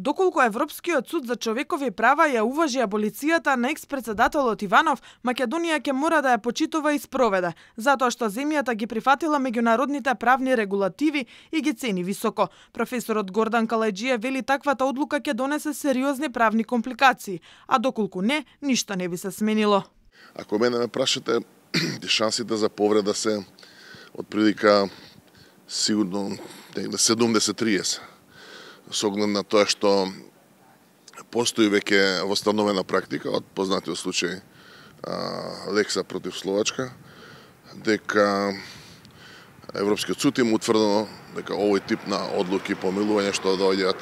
Доколку Европскиот суд за човекови права ја уважи аболицијата на екс-председателот Иванов, Македонија ќе мора да ја почитува и спроведе, затоа што земјата ги прифатила меѓународните правни регулативи и ги цени високо. Професорот Гордан Калајџиев вели таквата одлука ќе донесе сериозни правни компликации, а доколку не, ништо не би се сменило. Ако мене ме прашате, шансите за повреда се отприлика сигурно 70-30. Со оглед на тоа што постои веќе востановена практика од познатиот случај Лекса против Словачка, дека Европскиот суд им утврдено дека овој тип на одлуки помилување што доаѓаат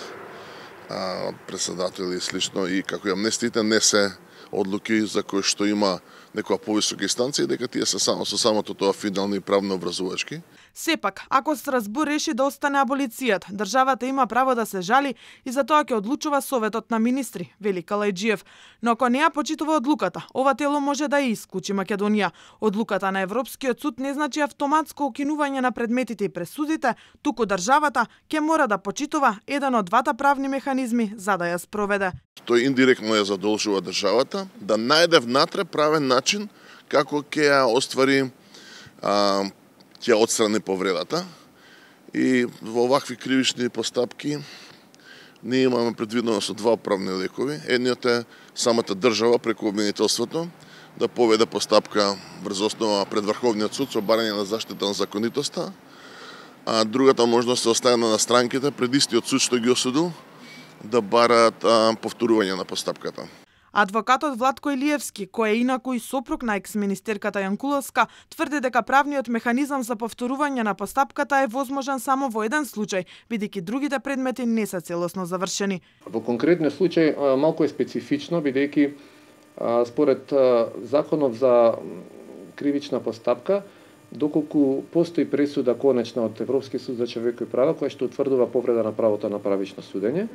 од председатели и слично и како и амнестиите не се одлуки за кои што има некоја повисока инстанција и дека тие се само со самото тоа финални правно образувачки. Сепак, ако Страсбур реши да остане аболицијата, државата има право да се жали и за тоа ќе одлучува Советот на министри, вели Калајџиев. Но ако не ја почитува одлуката, ова тело може да ја исклучи Македонија. Одлуката на Европскиот суд не значи автоматско укинување на предметите и пресудите, туку државата ќе мора да почитува еден од двата правни механизми за да ја спроведе. Тој индиректно ја задолжува државата да најде внатре правен начин како ќе ја оствари ќе отстрани повредата и во овакви кривични постапки ние имаме предвидено со два правни лекови. Едниот е самата држава преку обвинителството да поведе постапка врз основа пред Врховниот суд со барање на заштита на законитоста, а другата можност се оставена на странките пред истиот суд што ги осудил да бараат повторување на постапката. Адвокатот Владко Илиевски, кој е инаку и сопруг на екс-министерката Јанкуловска, тврди дека правниот механизам за повторување на постапката е возможен само во еден случај, бидејќи другите предмети не се целосно завршени. Во конкретниот случај малку е специфично, бидејќи според законов за кривична постапка, доколку постои пресуда конечна од Европскиот суд за човекови права која што утврдува повреда на правото на правично судење,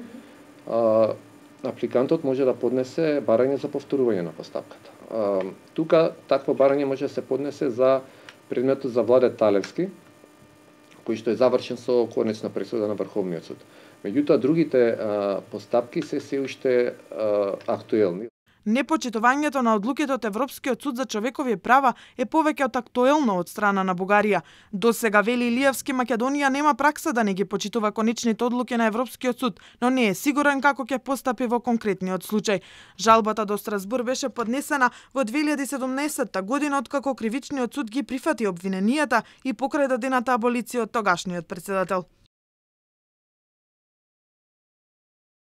апликантот може да поднесе барање за повторување на постапката. Тука такво барање може да се поднесе за предметот за Владе Талевски, кој што е завршен со конечна пресуда на Врховниот суд. Меѓутоа другите постапки се уште актуелни. Непочитувањето на одлуките од Европскиот суд за човекови права е повеќе од актуелно од страна на Бугарија. До сега, вели Илиевски, Македонија нема пракса да не ги почитува конечните одлуки на Европскиот суд, но не е сигурен како ќе постапи во конкретниот случај. Жалбата до Страсбур беше поднесена во 2017 година откако Кривичниот суд ги прифати обвиненијата и покрај дадената аболиција од тогашниот председател.